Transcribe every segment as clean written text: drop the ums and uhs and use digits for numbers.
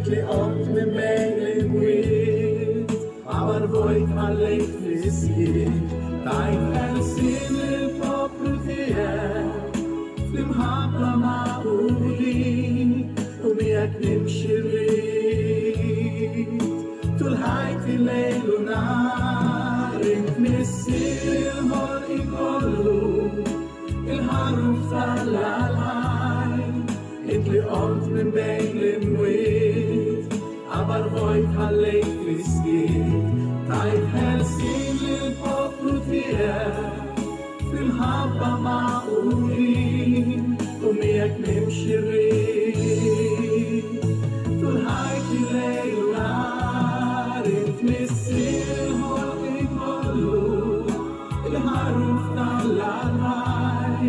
Int li qomt minn bejn l-imwiet, għabar vojt ħallejt fis-skiet, tajt ħelsien lill-poplu tiegħek, fl-imħabba magħqudin, u miegħek nimxi rrid. Tul ħajti lejl u nhar, int missier il-ħolqien kollu, il-ħaruf tal-għalħaj, int li qomt minn bejn l-imwiet, qabar vojt ħallejt fis-skiet, tajt ħelsien lill-poplu tiegħek, fl-imħabba magħqudin, u miegħek nimxi rrid. Tul ħajti lejl u nhar, int missier il-ħolqien kollu, il-ħaruf tal-għalħaj,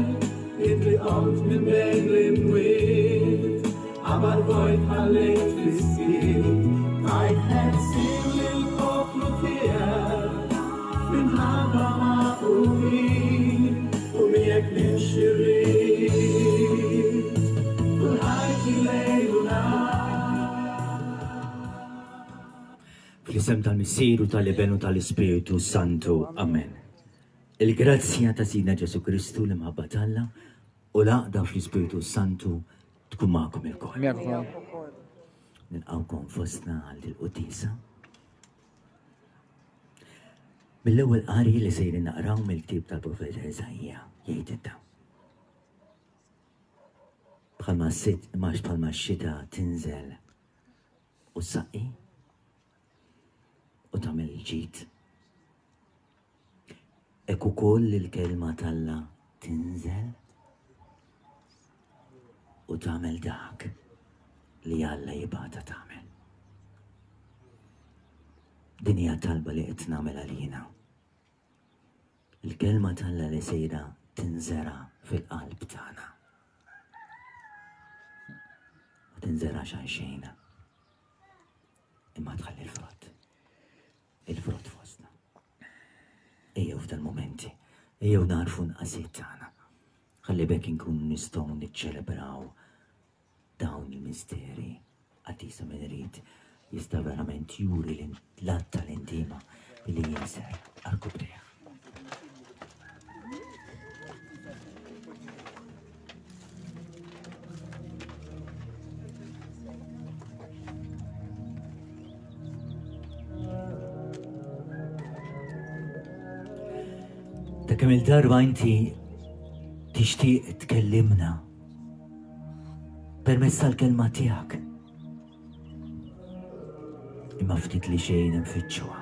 int li qomt minn bejn l-imwiet, qabar vojt ħallejt fis-skiet, tajt ħelsien lill-poplu tiegħek, fl-imħabba magħqudin, u miegħek nimxi rrid. Tul ħajti lejl u nhar. Fl-isem tal-Missier u tal-Iben u tal-Ispirtu Santu. Amen. Il-grazzja ta' Sidna Ġesu Kristu, l-imħabba t'Alla u l-għaqda fl-Ispirtu Santu tkun magħkom ilkoll. Nilqgħukom fostna għal dil-quddiesa. Mill-ewwel qari li sejrin naqraw mill-ktieb tal-profeta Iżaija jgħid inta. Bħalma s-sit imax bħalma x-xita tinżel u ssaqqi u tagħmel il-ġid. Hekk ukoll il-kelma t'Alla tinżel u tagħmel dak li Alla jibgħatha tagħmel. Din hija talba li qed nagħmel għalina. Il-kelma t'Alla li sejra tinżera fil-qalb tagħna. Ma tinżerax għal xejn. Imma tħalli l-frott. Il-frott fostna. Ejjew f'dal momenti, ejjew narfu nqasiet tagħna. Ħalli bekk inkunu nistgħu niċċelebraw dawn il-misteri qaddisa min irid jista' verament juri l-att tal-intima billi jinżel għarkupptejh. Ta' kemm il-darba inti tixtieq tkellimna permezz tal-kelma tiegħek. Imma ftit li xejn nfittxuha.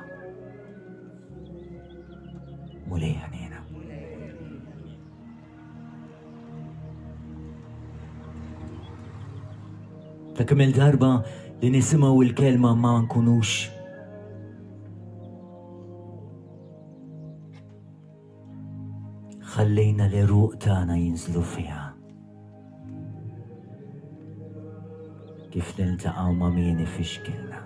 Mulej ħanina. Ta' kemm il-darba li nisimgħu il-kelma ma nkunux ħallejna l-eruq tagħna jinżlu fiha. Kif niltaqgħu ma' min ifixkilna.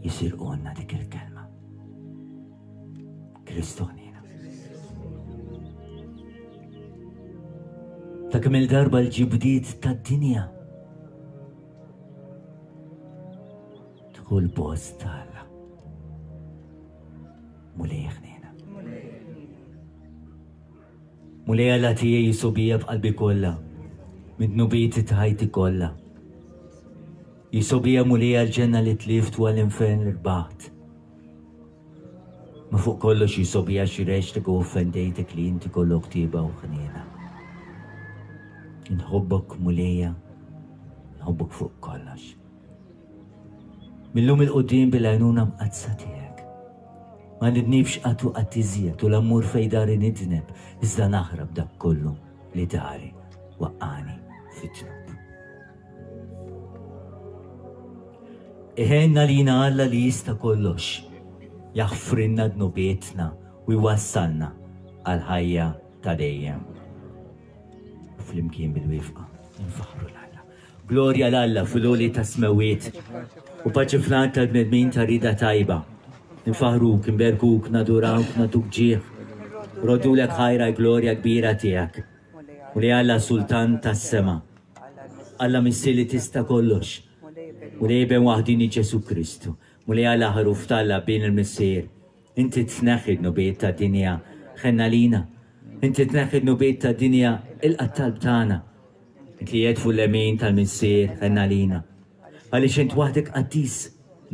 Jisirqulna dik il-kelma. Kristu ħniena. Ta' kemm il-darba l-ġibdiet tad-dinja Tkun post ta' Alla. Mulej ħniena. Mulej Alla tiegħi jisubija b'qalbi kollha, minn dnubieti ta' ħajti kollha. Jisubija Mulej għall-ġenna li tlift u għall-infern li rbaħt. Ma fuq kollox jisobija xi rextek u offendejtek li inti kollok tieba u ħniena. Inħobbok Mulejja, nħobbok fuq kollox. Millum il-qudiem bil-għajnuna mqaddsa tiegħek. Ma nidnibx qatt u qatt iżjed u la mmur fejn dari nidneb, iżda naħrab dak kollu li dari waqqani fit-dnub. Iħenna lina Alla li jista' kollox, jaħfrilna dnubietna u jwassalna għal ħajja ta' dejjem. Flimkien bil-wifqa nfaħħru 'l Alla. Glorja 'l Alla fil-għoli tas-smewwiet u paċi fl-art tal-bnedmin ta' rieda tajba. Infaħħruk, inberkuk, nadurawk, nagħtuk ġieħ. Roddulek ħajr għall-glorja kbira tiegħek. Mulej Alla Sultan tas-sema, Alla Missier li tista' kollox, Mulej Iben waħdini Ġesù Kristu, Mulej Alla ħaruf t'Alla Bin il-Missier, inti tneħħi d-dnubiet tad-dinja, ħenn għalina. Inti tneħħi d-dnubiet tad-dinja, ilqa' t-talb tagħna. Int li qiegħed fuq l-lemin tal-Missier, ħenn għalina. Għaliex int waħdek qaddis,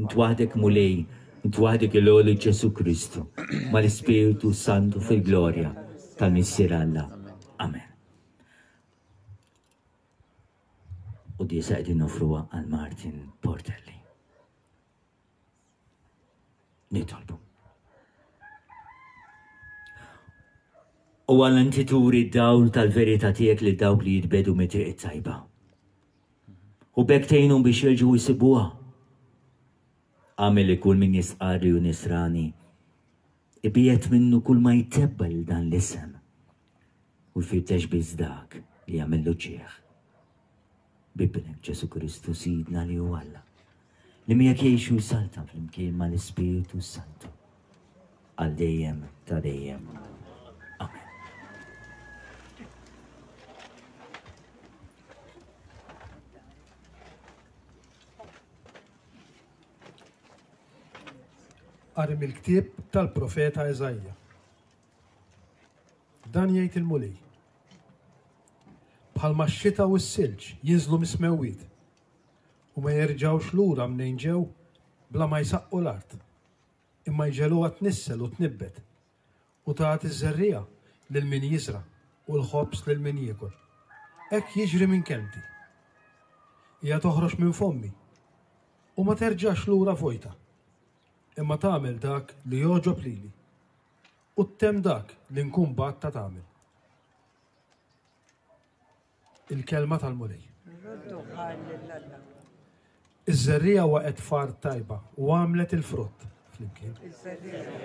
int waħdek Mulej, int waħdek il-għoli Ġesù Kristu, mal-Ispirtu Santu fil-glorja tal-Missier Alla. Amen. U disa qegħdin nofruha għal Martin Portelli. Nitolbu. U għal inti turi d-dawl tal-verità tiegħek lil dawk li jitbedu mit-triq it-tajba. U b'hekk tgħinhom biex jerġgħu jsibuha. Agħmel li kull min jistqarr li hu nisrani ibiegħed minnu kull ma jtebba' lil dan l-isem u jfittex biss dak li jagħmillu ġieħ. B'Ibnek Ġesù Kristu Sidna li hu Alla, li miegħek jgħix u jsaltan flimkien mal-Ispirtu s-Santu, għal dejjem ta' dejjem. Amen. Qari mill-ktieb tal-profeta Eżajja. Dan jgħid il-Mulej. Bħalma x-xita u s-silġ jinżlu mis-smewwiet u ma jerġgħux lura mnejn ġew bla ma jsaqqu l-art, imma jġegħluha tnissel u tnibbet, u tagħti ż-żerriegħa lil min jiżra' u l-ħobż lil min jiekol. Hekk jiġri minn kelmti. Hija toħroġ minn fommi u ma terġax lura vojta, imma tagħmel dak li jogħġob lili u ttemm dak li nkun bgħattha tagħmel. Il-kelma tal-Mulej. Iż-żerriegħa waqgħet f'art tajba u għamlet il-frott. Flimkien.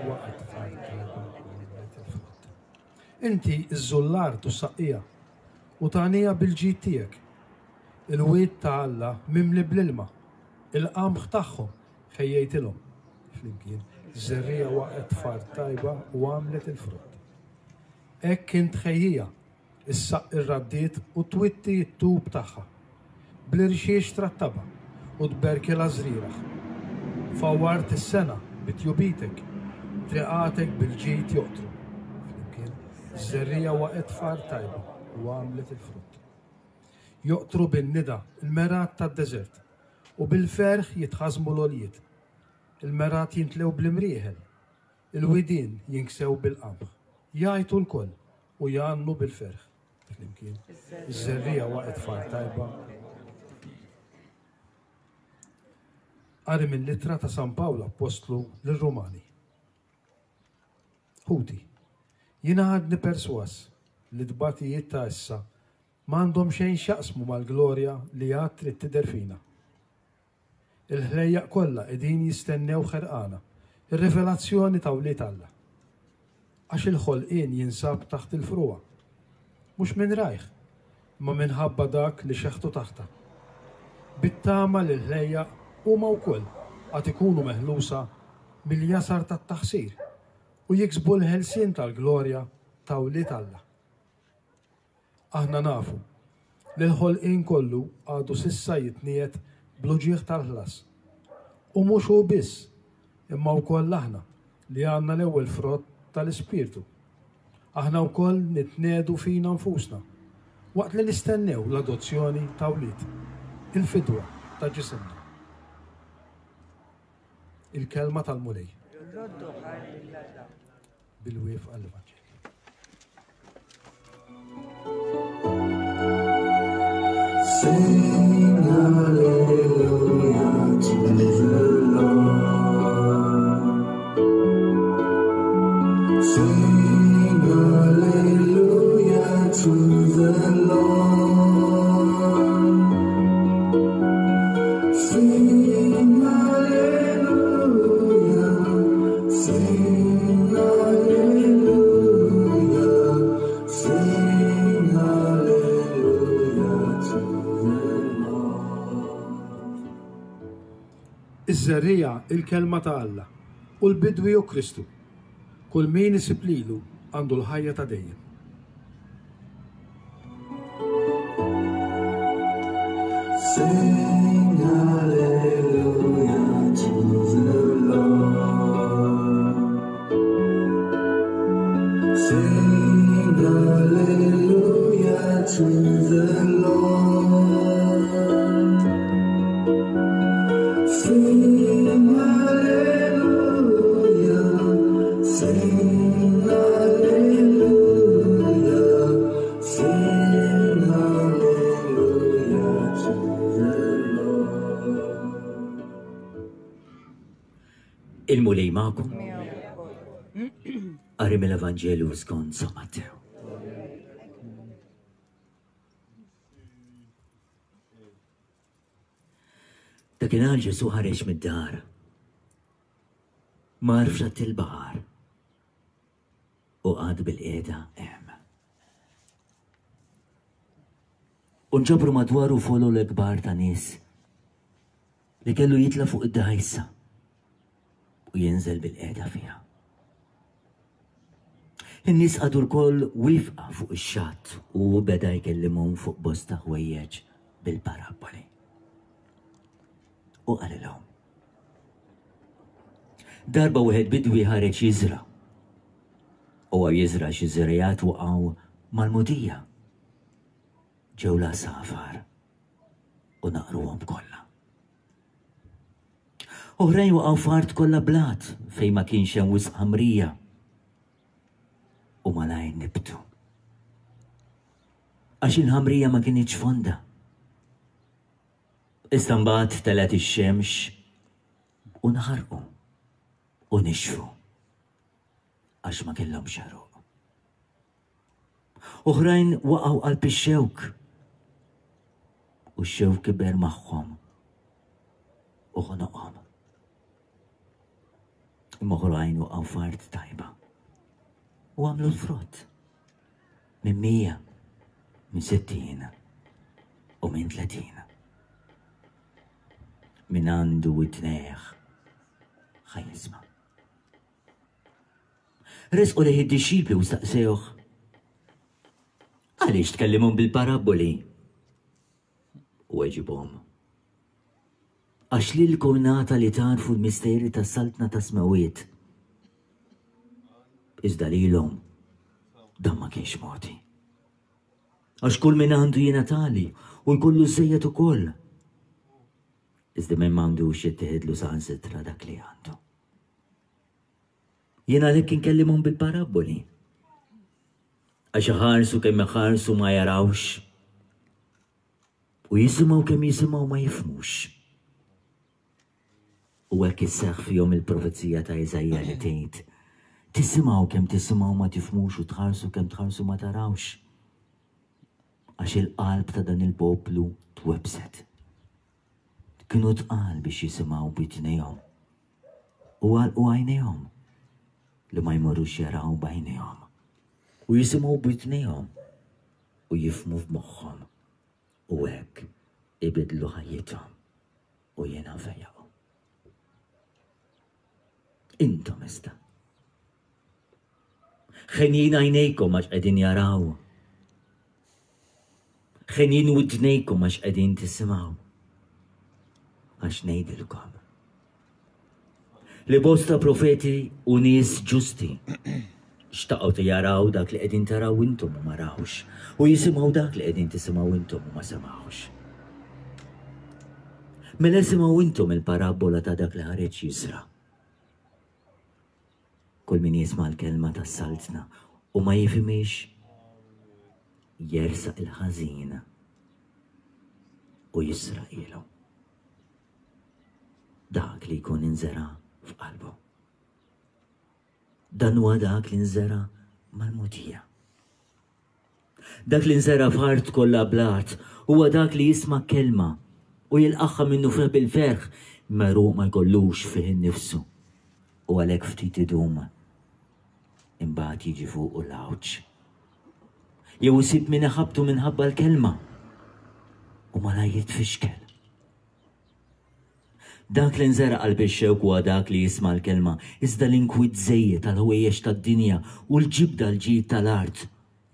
Waqgħet f'art tajba u għamlet il-frott. Inti żżul l-art u ssaqqieha u tagħniha bil-ġid tiegħek. Il-wied ta' Alla mimli bl-ilma, il-qamħ tagħhom ħejjejtilhom. Flimkien. Żerriegħa waqgħet f'art tajba u għamlet il-frott. Hekk int tħejjiha, issaqqi r-raddiet u twitti t-tub tagħha. Bl-irxiex trattabha u tberkilha ż-żrieragħ. Fawwart is-sena bi tjubitek, triqatek bil-ġid joqtru. Flimkien, żerriegħa waqgħet f'art tajba u għamlet il-frott. Joqtru bin-nida l-mergħat tad-deżert, u bil-ferħ jitħażżmu l-għoljiet. Il-mergħat jintlew bl-imrieħel, Il-widien jinksew bil-qamħ. Jgħajtu lkoll u jgħannu bil-ferħ. Flimkien. Iż-żerriegħa waqgħet f'art tajba. Qari mill-ittra ta' San Pawl Appostlu lir-Rumani. Ħuti, jiena għadni persważ li t-tbatijiet ta' issa m'għandhom xejn x'jaqsmu mal-glorja li għad trid tidher fina. Il-ħlejjaq kollha qegħdin jistennew ħerqana r-rivelazzjoni ta' wlied Alla. Għax il-ħolqien jinsab taħt il-frugħa, mhux minn rajh, imma minħabba dak li xeħtu taħtha. Bit-tama li l-ħlejjaq huma wkoll għad ikunu meħlusa mill-jasar tat-taħsir u jiksbu l-ħelsien tal-glorja ta' wlied Alla. Aħna nafu li l-ħolqien kollu għadu s'issa jitniegħed bl-uġigħ tal-ħlas. U mhux hu biss, imma wkoll aħna li għandna l-ewwel frott tal-Ispirtu. Aħna wkoll nitniegħdu fina nfusna, waqt li nistennew l-adozzjoni ta' wlied, il-fidwa ta' ġisimna. Il-kelma tal-Mulej. Bil-wieqfa l-Evanġelju. Sing hallelujah to the Lord. Sing hallelujah to the Lord. Sing hallelujah. Sing hallelujah. Sing hallelujah to the Lord. Iż-żerriegħa il-kelma ta' Alla, u l-bidwi hu Kristu. Kull min isib lilu għandu l-ħajja ta' dejjem. to the Lord. Sing hallelujah, sing hallelujah, sing hallelujah to the Lord. Il-Mulej magħkom. Qari mill-Evanġelju skont San Mattew. Dakinhar Ġesù ħareġ mid-dar. Mar f'xatt il-baħar u qagħad bil-qiegħda hemm. U nġabru madwaru folol kbar ta' nies li kellu jitla' fuq id-dgħajsa u jinżel bil-qiegħda fiha. In-nies qagħdu lkoll wifqa fuq ix-xatt u hu beda jkellimhom fuq bosta ħwejjeġ bil-parabboli. U qalilhom. Darba wieħed bidwi ħareġ jiżra. Huwa jiżra xi żrejat waqgħu mal-mudija. Ġew l-għasafar u naqruhom kollha. Oħrajn waqgħu f'art kollha blat fejn ma kienx hemm wisq ħamrija u malajr nibtu. Għax il-ħamrija ma kinitx fonda. Iżda mbagħad telgħet ix-xemx u nħarqu u nixfu għax ma kellhomx għeruq. Oħrajn waqgħu qalb ix-xewk u x-xewk kiber magħhom u ħonoqhom. Imma oħrajn waqgħu f'art tajba u għamlu l-frott minn 100, minn 60 u minn 30. Min għandu widnejh ħa jisma'. Resqu lejh id-dixxipli u staqsewh, Għaliex tkellimhom bil-parabboli? U weġibhom, Għax lilkom ngħata li tagħrfu l-misteri tas-saltna tas-smewwiet. Iżda lilhom dan ma kienx mogħti. Għax kull min għandu jingħatali u jkollu żejjed ukoll. Iżda min m'għandux jittieħidlu saħansitra dak li għandu. Jien għalhekk inkellimhom bil-parabboli. Għax iħarsu kemm iħarsu ma jarawx. U jisimgħu kemm jisimgħu ma jifhmux. U hekk isseħħ fihom il-profezija ta' Iżaija li tgħid, Tisimgħu kemm tisimgħu ma tifhmux u tħarsu kemm tħarsu ma tarawx. Għax il-qalb ta' dan il-poplu twebbset. Kienu tqal biex jisimgħu b'widnejhom u għalqu għajnejhom li ma jmorrux jaraw b'għajnejhom u jisimgħu b'widnejhom u jifhmu f'moħħhom u hekk ibiddlu ħajjithom u jiena nfejjaqhom. Intom iżda. Ħenjin għajnejkom għax qegħdin jaraw. Ħenjin widnejkom għax qegħdin tisimgħu. Għax ngħidilkom li bosta profeti u nies ġusti xtaqgħu ti jaraw dak li qegħdin taraw intom u ma rawx, u jisimgħu dak li qegħdin tisimgħu intom u ma semgħux. Mela isimgħu intom il-parabbola ta' dak li ħareġ jiżra'. Kull min jisma' l-kelma tas-saltna u ma jifhimhiex, jersaq il-ħażin u jisraqhielu. Dak li jkun inżera' f'qalbu. Dan huwa dak li nżera' mal-mogħdija. Dak li nżera' f'art kollha blat huwa dak li jisma' kelma u jilqagħha minnufih bil-ferħ, imma għeruq ma jkollux fih innifsu, u għalhekk ftit idum, imbagħad jiġi fuqu l-għawġ. Jew isib min iħabbtu minħabba l-kelma, u malajr jitfixkel. Dak li nżera' qalb ix-xewk huwa dak li jisma' l-kelma, iżda l-inkwiet żejjed tal-ħwejjeġ tad-dinja u l-ġibda l-ġid tal-art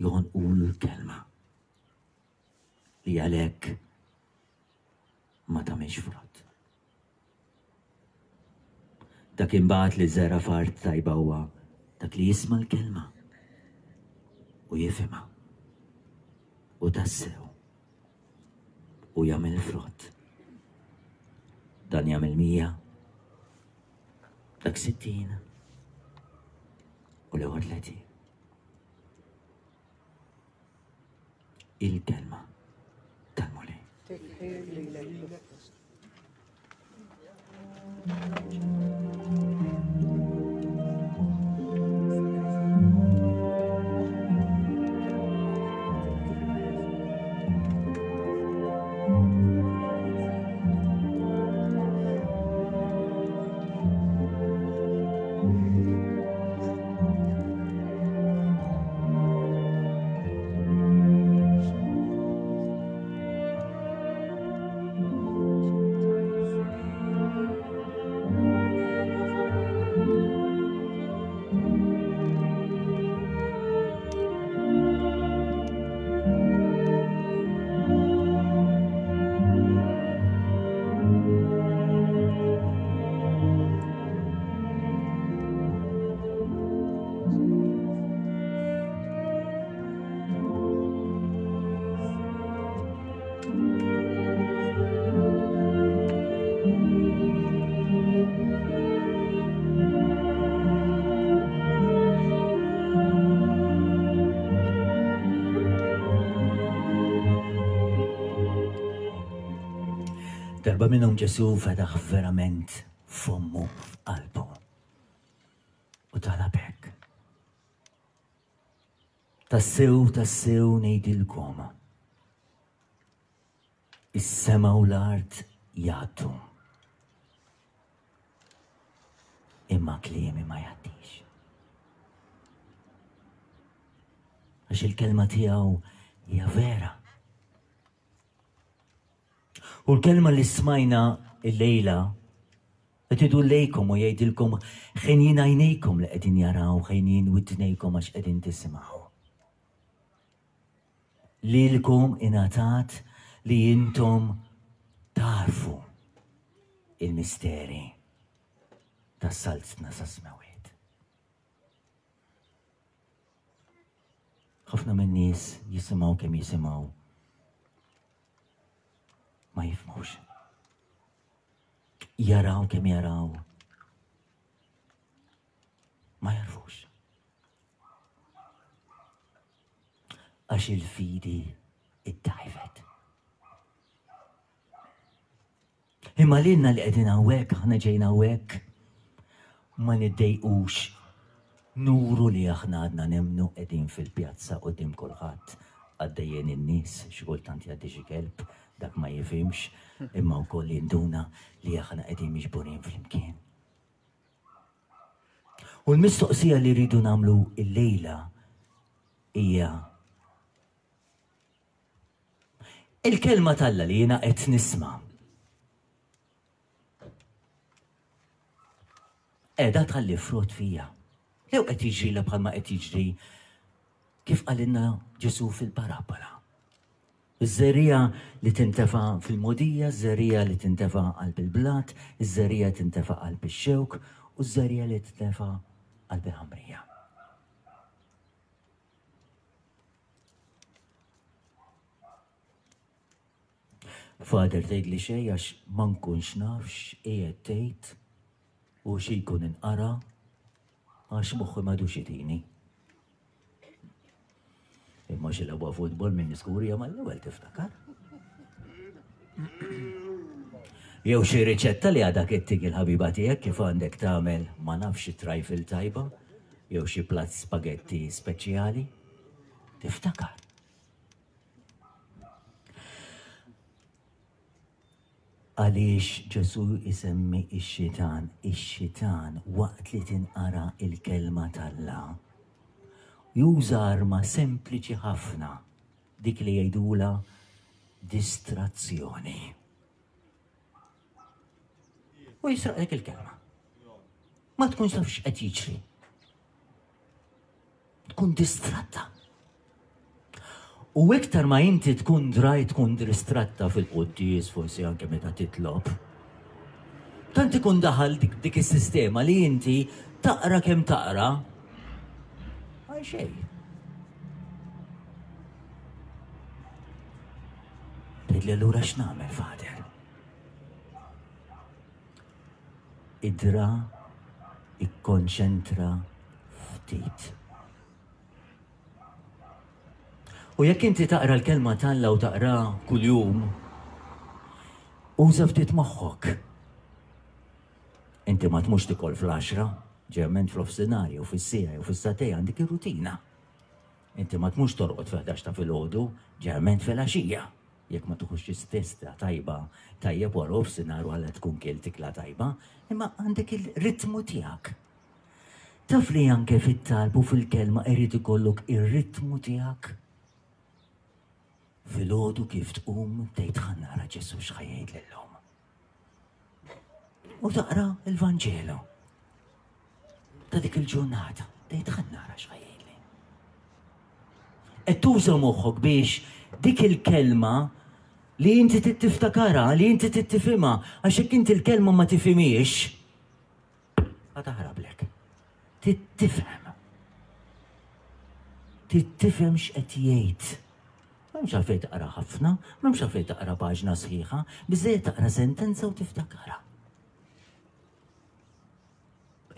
joħonqulu l-kelma, li għalhekk ma tagħmilx frott. Dak imbagħad li żera' f'art tajba huwa dak li jisma' l-kelma u jifhimha. U tassew. U jagħmel frott. Dan jagħmel 100. Dak 60. U l-ewwel 30. Il-kelma tal-Mulej. Darba minnhom Ġesù fetaħ verament fommu f'qalbu u talab hekk. Tassew, tassew ngħidilkom. Is-sema u l-art jgħaddu. Imma kliemi ma jgħaddix. Għax il-kelma tiegħu hija vera. U l-kelma li smajna il-lejla qed idur lejkom u jgħidilkom ħenjin għajnejkom li qegħdin jaraw, ħenjin widnejkom għax qegħdin tisimgħu. Lilkom ingħatat li intom tarfu il-misteri tas-saltna sas-smewiet. Ħafna min-nies jisimgħu kemm jisimgħu ma jifhmux. Jaraw kemm jaraw ma jarfux. Għax il-fidi id-dajfet. Imma lilna li qegħdin hawnhekk, aħna ġejna hawnhekk, ma niddejqux nuru li aħna għadna nemmnu qegħdin fil-pjazza quddiem kulħadd, għaddejjin in-nies, xi kultant jgħaddi xi kelb, dak ma jifhimx, imma wkoll jinduna li aħna qegħdin miġburin flimkien. U l-mistoqsija li rridu nagħmlu illejla hija Il-kelma t'Alla li jiena qed nisma' qiegħda tħalli frott fija. Jew qed jiġrilha bħalma qed jiġri kif qalilna Ġesù fil-parabola. Iż-żerriegħa li tintefa' fil-mogħdija, iż-żerriegħa li tintefa' qalb il-blat, iż-żerriegħa tintefa' qalb ix-xewk u ż-żerriegħa li tintefa' qalb il-ħamrija. Father tgħidli xejn għax ma nkunx naf x'qiegħed tgħid u xi jkun inqara għax moħħi m'għadux itini. Imma xi lagħba futbol minn skurja mal-ewwel tiftakar. Jew xi riċetta li għadha kittik il-ħabiba tiegħek kif għandek tagħmel ma nafx xi trifle tajba jew xi platt spagetti speċjali. Tiftakar. Għaliex Ġesù jsemmi x-xitan? Ix-xitan waqt li tinqara il-kelma t'Alla juża arma sempliċi ħafna, dik li jgħidula distrazzjoni. U jisraqlek il-kelma. Ma tkunx taf x'qed jiġri. Tkun distratta. U iktar ma inti tkun draj tkun distratta fil-quddies forsi anke meta titlob. Tant ikun daħal dik, dik is-sistema li inti taqra kemm taqra għal xejn. Tgħidli allura x'nagħmel, Father? Idra ikkonċentra ftit. U jekk inti taqra l-kelma t'Alla u taqra kuljum, uża ftit moħħok. Inti ma tmux tikol fl-10, ġerment fl-ofsinhar jew fis-siegħa jew fis-sagħtej għandek ir-rutina. Inti ma tmux torqod fil-11 ta' filgħodu, ġerment fil-għaxija. Jekk ma tuħux xi siesta tajba, tajjeb wara ofsinhar wara tkun kilt ikla tajba, imma għandek il-ritmu tiegħek. Taf li anke fit-talb u fil-kelma irid ikollok ir-ritmu tiegħek? Filgħodu kif tqum tgħid ħa nara Ġesù x'ħa jgħidli llum. U taqra l-Vanġelu ta' dik il-ġurnata, tgħid ħa nara x'ħa jgħidli. Qed tuża moħħok biex dik il-kelma li inti tiftakarha, li inti tifhimha, għax jekk inti l-kelma ma tifhimhiex, Ħa taħrablek. Trid tifhem. Trid tifhem x'qed jgħid. M'hemmx għalfejn taqra ħafna, m'hemmx għalfejn taqra paġna sħiħa, biżejjed taqra sentenza u tiftakarha.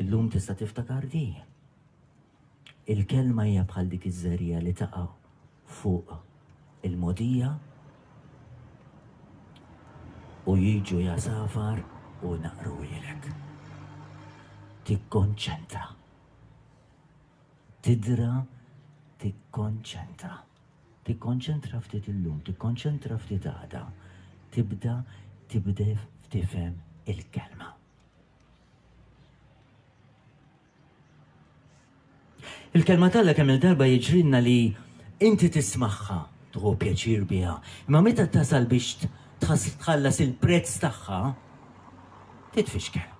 Illum tista' tiftakar di. Il-kelma hija bħal dik iż-żerriegħa li taqa' fuq il-mogħdija u jiġu jasafar u jnaqqruhielek. Tikkonċentra. Tidra tikkonċentra. Tikkonċentra ftit illum, tikkonċentra ftit għada. Tibda tibda tifhem il-kelma. Il-kelma t'Alla kemm il-darba jiġrilna li inti tismagħha, tieħu pjaċir biha, imma meta tasal biex tħallas il-prezz tagħha, titfixkel.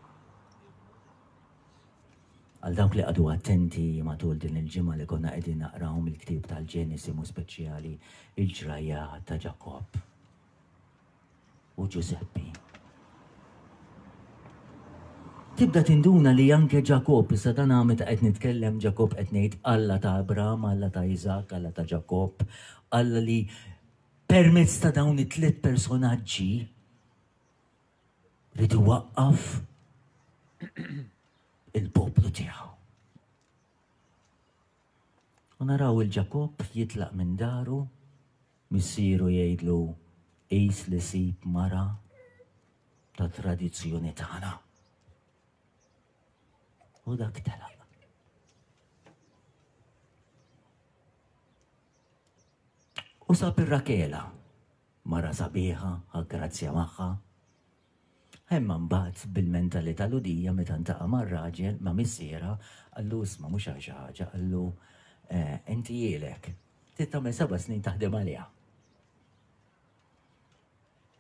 Għal dawk li qagħdu attenti matul din il-ġimgħa li konna qegħdin naqraw mill-ktieb tal-Ġenesi mu speċjali il-ġrajja ta' Ġakobb. u Ġużeppi. Tibda tinduna li anke Ġakobb, issa dan meta qed nitkellem Ġakobb qed ngħid Alla ta' Abram, Alla ta' Iżak, Alla ta' Ġakobb, Alla li permezz ta' dawn it-tliet personaġġi rid iwaqqaf il-poplu tiegħu. U naraw il-Ġakobb jitlaq minn daru Missieru jgħidlu, Qis li sib mara tat-tradizzjoni tagħna. U dak telaq. U sab ir-Rakela, mara sabiħa, ħa magħha. Imma mbagħad bil-mentalità Lhudija meta ntaqa' mar-raġel ma' missierha qallu isma' mhux għal xi ħaġa qallu eh, inti ilek trid tagħmel seba' snin taħdem għaliha.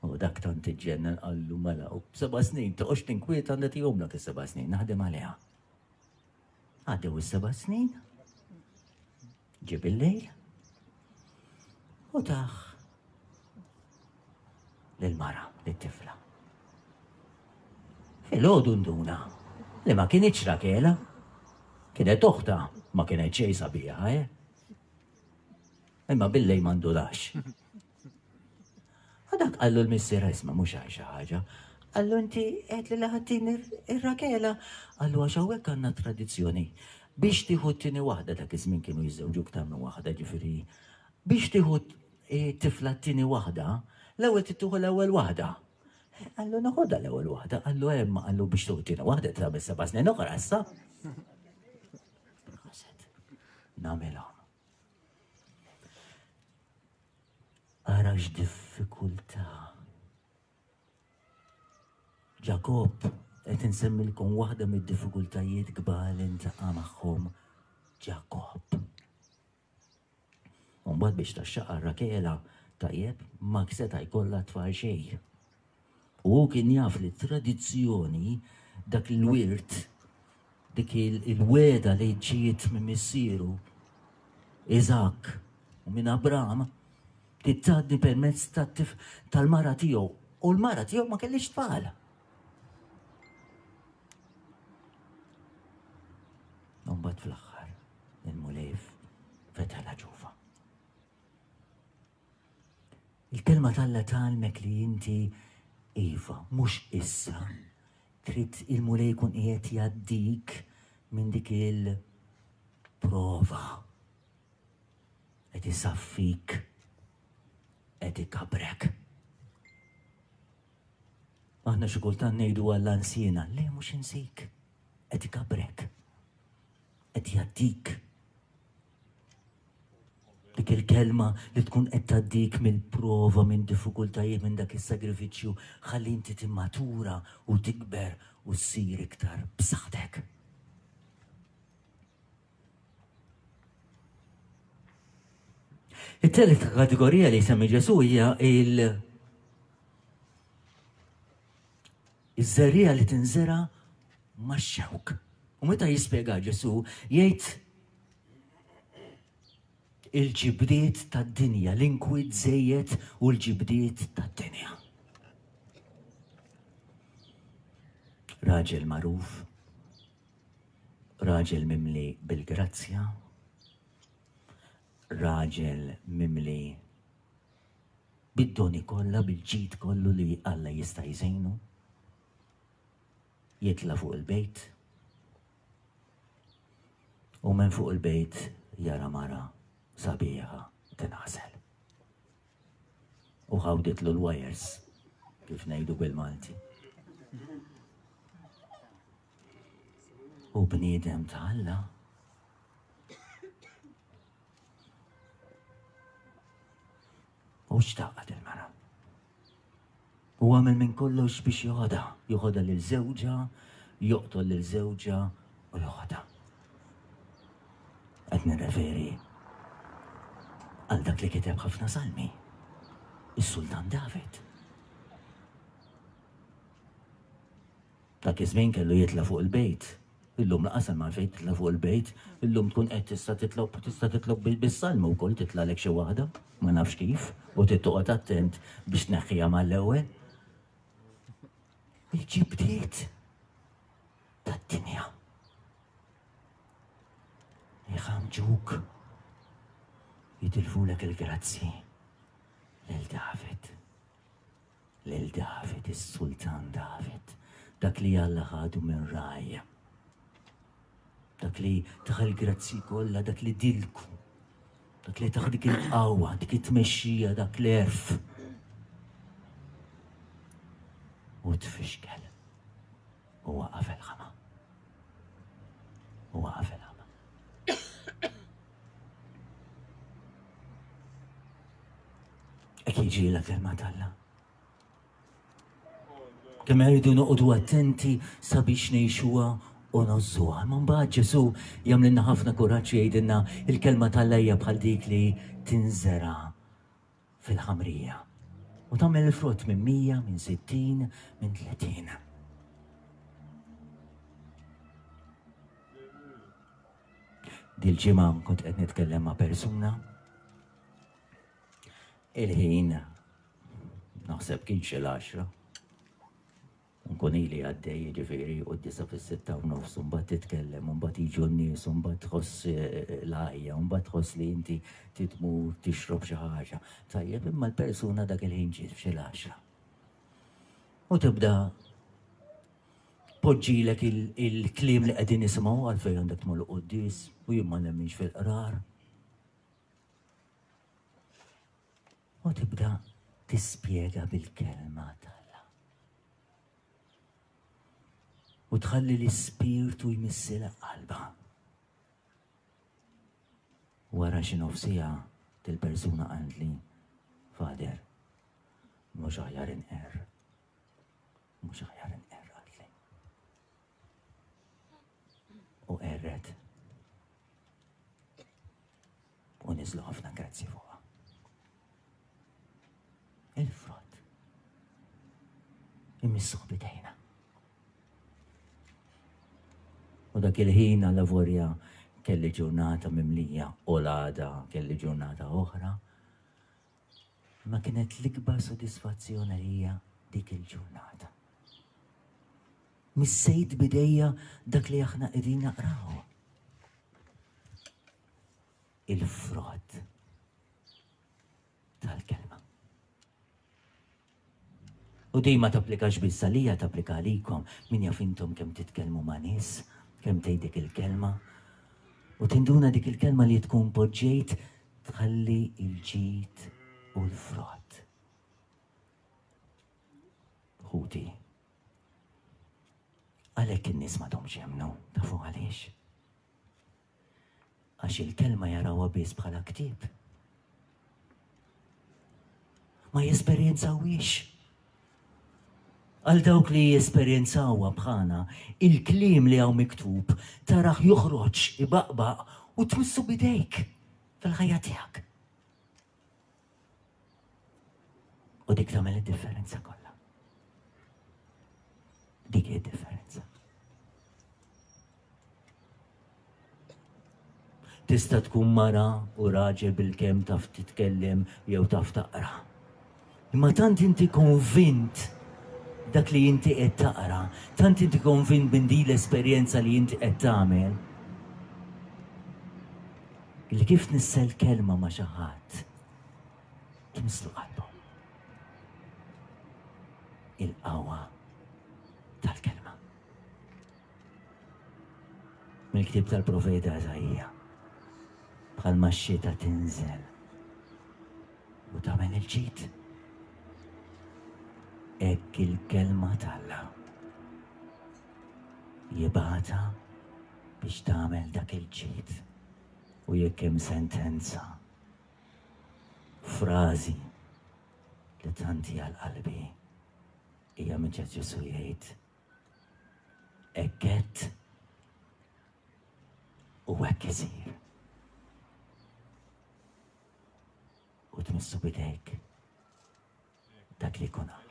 U dak tant iġġennen qallu mela u seba' snin toqgħodx tinkwieta nagħtihomlek is-seba' snin naħdem għaliha. Għaddew is-seba' snin, ġib il-lejl u taħ lill-mara, lit-tifla. Filgħodu nduna li ma kinitx Rakela, kienet oħta, ma kienet xejn sabiħa, eh? Imma billej ma ndulax. Għadak qallu l-missier isma' mhux għal xi ħaġa. Qallu inti qed li laħatin ir-Rakela. Qallu għax hawnhekk għandna tradizzjoni. Biex tieħu t-tieni waħda dak iż-żmien kienu jiżżewġu iktar minn waħda ġifieri. Biex tieħu tifla t-tieni waħda, l-ewwel trid tieħu l-ewwel waħda. Qallu noħodha l-ewwel waħda, qallu hemm qallu biex tieħu t-tieni waħda tagħmel seba' snin oħra issa. Nagħmilhom. Ara x'diffikultà. Ġakobb qed insemmilkom waħda mid-diffikultajiet kbar li ntaqa' magħhom Ġakobb. U mbagħad biex taxxaqa Rakela tajjeb ma seta' jkollha tfal xejn. U hu kien jaf li t-tradizzjoni dak il-wirt dik il-wegħda li ġiet minn missieru Iżakk u minn Abram tgħaddi permezz tal-mara tiegħu u l-mara tiegħu ma kellix tfal. Mbagħad fl-aħħar il-Mulej fetaħ ġufa. Il-kelma t'Alla tgħallmek li inti iva, mhux issa, trid il-Mulej jkun qiegħed jgħaddik minn dik il-prova. Qed isaffik, qed ikabrek. Aħna xi kultant ngħidu Alla nsiena, le mhux insik, qed ikabrek, qed jgħaddik. Dik il-kelma li tkun qed tgħaddik mill-prova, minn diffikultajiet, minn dak is-sagrifiċċju, ħalli inti timmatura u tikber u ssir iktar b'saħħtek. It-telet kategorija li jsemmi Ġesu hija il- iż-żerriegħa li tinżera max-xewk. U meta jispjega Ġesu jgħid il-ġibdiet tad-dinja, l-inkwiet żejjed u l-ġibdiet tad-dinja. Raġel magħruf, raġel mimli bil-grazzja, raġel mimli bid-doni kollha, bil-ġid kollu li Alla jista' jżejnu, jitla' fuq il-bejt, U minn fuq il-bejt jara mara sabiħa tinħasel. U ħawditlu l-wires, kif ngħidu bil-Malti. U bniedem ta' Alla U xtaqat il-mara. U għamel minn kollox biex joħodha, joħodha lil żewġha, joqtol lil żewġha u joħodha. Qed nirreferi għal dak li kiteb ħafna salmi, is-Sultan David. Dak iż-żmien kellu jitla' fuq il-bejt. Illum laqas hemm għalfejn titla' fuq il-bejt, illum tkun qed tista' titlob tista' titlob bis-salmu wkoll titlagħlek xi waħda, ma nafx kif, u trid toqgħod attent biex tneħħiha mal-ewwel. Il-ġibdiet tad-dinja. Iħamġuk jitilfulek il-grazzi lil David. Lil David, is-sultan David, dak li Alla ħadu minn ragħajja. Dak li taħ il-grazzi kollha, dak li dilku, dak li taħ dik il-qawwa, dik it-tmexxija, dak l-erf. U tfixkel. U waqaf il-ħama. U waqaf il-ħama. Hekk jiġri l-kelma t'Alla. Kemm irridu noqogħdu attenti sabiex ngħixuha u nozzuha. Imma mbagħad Ġesù jagħmlilna ħafna kuraġġ jgħidilna il-kelma t'Alla hija bħal dik li tinżera fil-ħamrija. U tagħmel il-frott minn 100, minn 60, minn 30. Dil-ġimgħa kont qed nitkellem ma' persuna Il-ħin naħseb kien xi l-għaxra. Nkun ili għaddej, jiġifieri, u d-disa fis-sitta u nofs, u mbagħad titkellem, u mbagħad jiġu n-nies, u mbagħad tħoss eh, l-għajja, u mbagħad tħoss li inti titmur tixrob xi ħaġa. Tajjeb, imma l-persuna dak il-ħin ġiet f'xi l-għaxra. U tibda poġġilek il-kliem li qegħdin nisimgħu għalfejn għandek tmur quddis u jien ma nemminx fil-qrar. U tibda tispjega bil-kelma t'Alla. U tħalli l-ispirtu jmissilha qalba. Wara xi nofsija til-persuna qaltli, Father, mhux aħjar inqerr. Mhux aħjar inqerr qaltli. U qerret. U niżlu ħafna grazzi fuqha. Il-frott. Imissuh bidejna. U dak il-ħin għal lavorja kelli ġurnata mimlija u l-għada kelli ġurnata oħra. Ma kienet l-ikbar sodisfazzjon għalija dik il-ġurnata. Missejt bidejja dak li aħna qegħdin naqraw. Il-frott tal-kelma. U din ma tapplikax biss għalija, tapplika għalikom. Min jaf intom kemm titkellmu ma' nies, kemm tgħid dik il-kelma. U tinduna dik il-kelma li tkun poġġejt tħalli il-ġid u l-frott. Ħuti, għalhekk in-nies m'għadhomx jemmnu, tafu għaliex? Għax il-kelma jarawha biss bħala ktieb. Ma jesperjenzawhiex. Għal dawk li jesperjenzawha bħalna, il-kliem li hawn miktub taraħ joħroġ ibaqbaq u tmissu bidejk fil-ħajja tiegħek. U dik tagħmel id-differenza kollha. Dik hi differenza. Tista' tkun mara u raġel bil-kemm taf titkellem jew taf taqra. Imma tant inti konvint dak li inti qed taqra, tant inti konvint minn din l-esperjenza li inti qed tagħmel, li kif tnissel kelma ma' xi ħadd, tmisslu qalbu. Il-qawwa tal-kelma. Mill-ktieb tal-profeta Eżaija, bħalma x-xita tinżel u tagħmel il-ġid. Hekk il-kelma t'Alla jibgħatha biex tagħmel dak il-ġid u jekk hemm sentenza, frażi li tant hija l-qalbi hija minn Ġesù jgħid hekk għedt u hekk isir. U tmissu bidejk dak li jkun qal.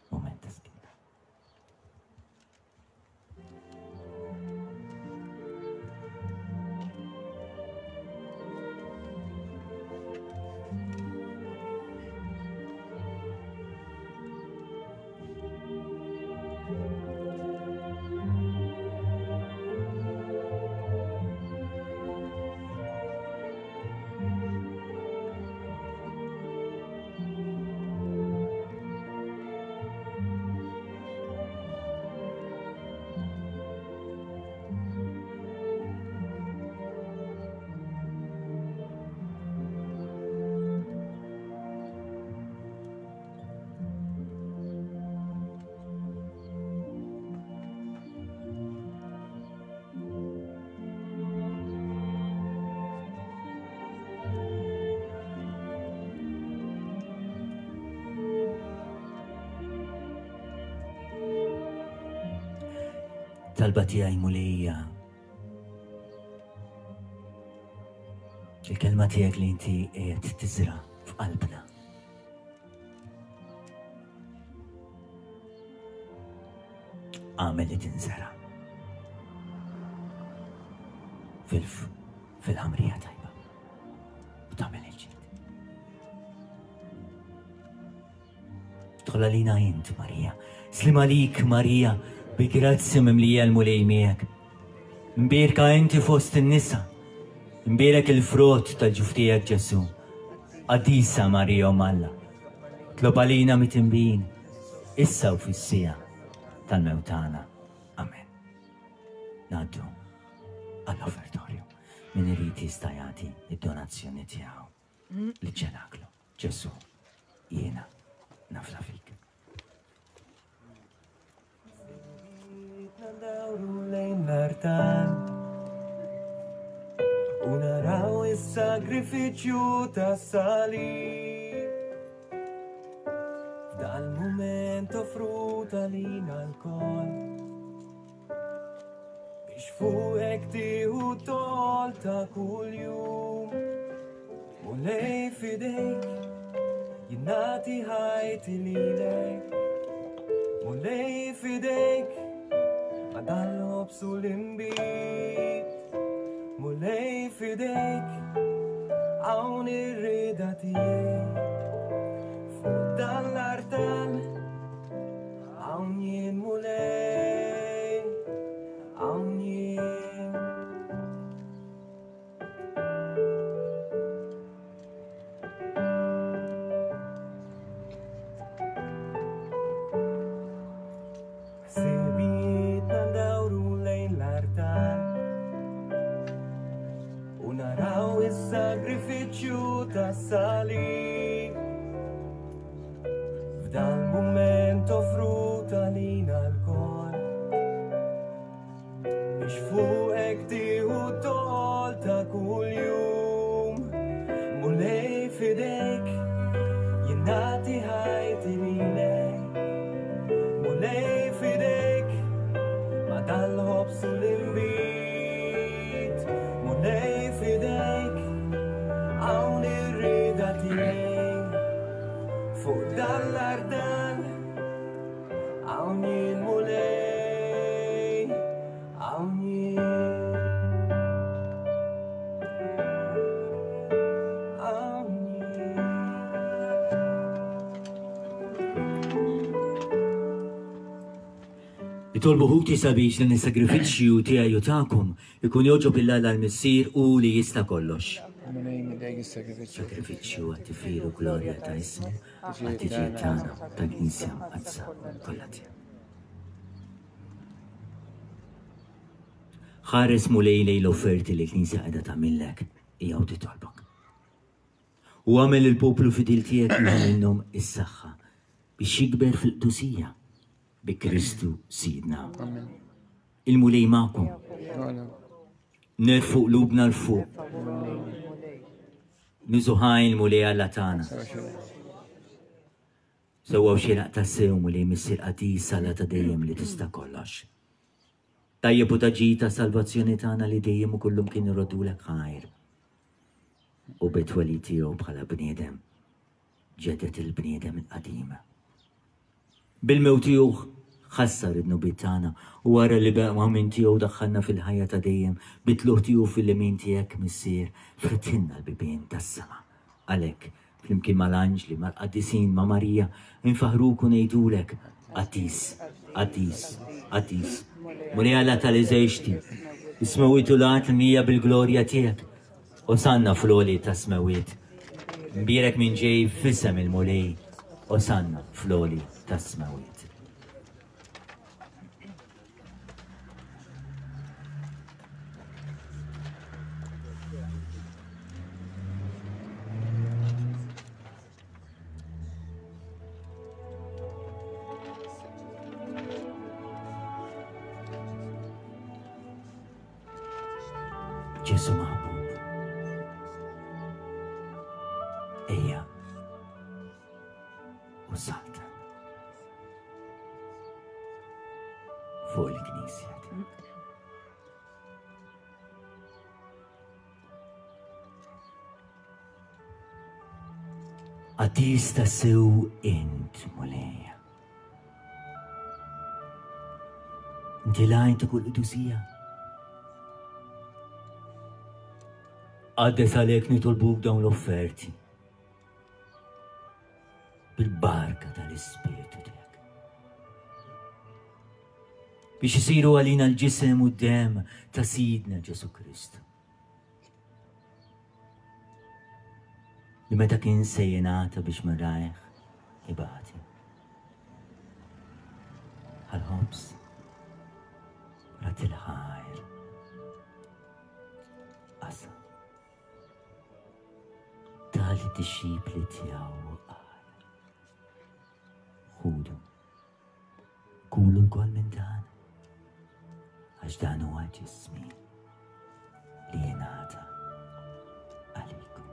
Moment ta' skina. Talba tiegħi Mulejja. Il-kelma tiegħek li inti qiegħed tiżra f'qalbna. Għamel li tinżera fil-ħamrija tajba u tagħmel il-ġid. Dħol għalina int, Marija. Slim għalik, Marija, bi grazzja mimlija l-Mulej miegħek. Mbierka inti fost in-nisa. Mbierek il-frott tal-ġuf tiegħek Ġesù. Qaddisa Marija Omm Alla. Tlob għalina mitinbin, issa u fis-siegħa tal-mewt tagħna. Amen. Ngħaddu għall-offertorju. Min irid jista' jagħti id-donazzjoni tiegħu liċ-ċenaklu. Ġesù, jiena nafda fik. Ndawru lejn l-artal u naraw is-sagrifiċċju tas-salib. F'dal-mument offrut għalina lkoll biex fuqek tieħu tol ta' kuljum. Mulej f'idejk jien nagħti ħajti lilek. Mulej f'idejk għadal ħobs u l-inbid. Mulej f'idejk hawn ir-rieda tiegħi. Fuq dan l-artal hawn jien Mulej, hawn jien. is-sagrifiċċju tas-salib. F'dan mument offrut għalina lkoll. Biex fuqek tieħu tol ta' kuljum. Mulej fidejk, jien nagħti ħajti lilek. Mulej fidejk, ma' dal-ħobż u l-inbid. Mulej fidejk, hawn ir-rieda tiegħi. Fuq dal-artal, hawn jien Mulej, hawn jien. Hawn jien. Itolbu ħuti sabiex dan is-sagrifiċċju tiegħi u tagħkom ikun jogħġob lil Alla l-Missier hu li jista' kollox. Mulej midejk is-sagrifiċċju. Sagrifiċċju għat-tifħir u glorja ta' ismu, għat-tiġijiet tagħna tal-Knisja Mqaddsa kollha tiegħu. Ħares Mulej lejn l-offerti li l-Knisja qiegħda tagħmillek hija u titolbok. U għamel il-poplu fidil tiegħek jieħu minnhom is-saħħa biex jikber fil-qdusija bi Kristu Sidna. Il-Mulej magħkom. Nerfu qlubna 'l fuq. Niżuħajn il-Mulej Alla tagħna. Sewwa u xieraq tassew Mulej Missier qaddis Alla ta' dejjem li tista' kollox. Tajjeb u ta' ġid ta' salvazzjoni tagħna li dejjem u kullum kien iroddulek ħajr. U bit-twelid tiegħu bħala bniedem ġedet il-bniedem il-qadim. Bil-mewt tiegħu ħassar id-dnubiet tagħna u wara li beqgħu minn tiegħu daħħalna fil-ħajja ta' dejjem bit-tlugħ tiegħu fil-lemin tiegħek, Missier, fetħilna l-bibien tas-sema. Għalhekk, flimkien mal-anġli, mal-qaddisin, ma' Marija, infaħħruk u ngħidulek, Qaddis, qaddis, qaddis, Mulej Alla tal-eżerċti, is-smewwiet u l-art mimlija bil-glorja tiegħek. Osanna fl-għoli tas-smewwiet. Mbierek min ġej f'isem il-Mulej. Osanna fl-għoli tas-smewwiet. Ġesu maħbub. Ejja. U salta. Fuq il-Knisja tiegħek. Qaddis tassew int, Mulej. Inti l-għajn ta' kull qdusija. Qaddes għalhekk nitolbuk dawn l-offerti bil-barka tal-Ispirtu tiegħek. Biex isiru għalina l-ġisem u d-dem ta' Sidna Ġesu Kristu. Li meta kien se jingħata biex minn rajh ibati. Għal-ħobż, rat il-ħajr, qasam. Tali dixxipli tiegħu qal. Ħudu. Kulu lkoll minn dan, għax dan huwa ġismi li jingħata għalikom.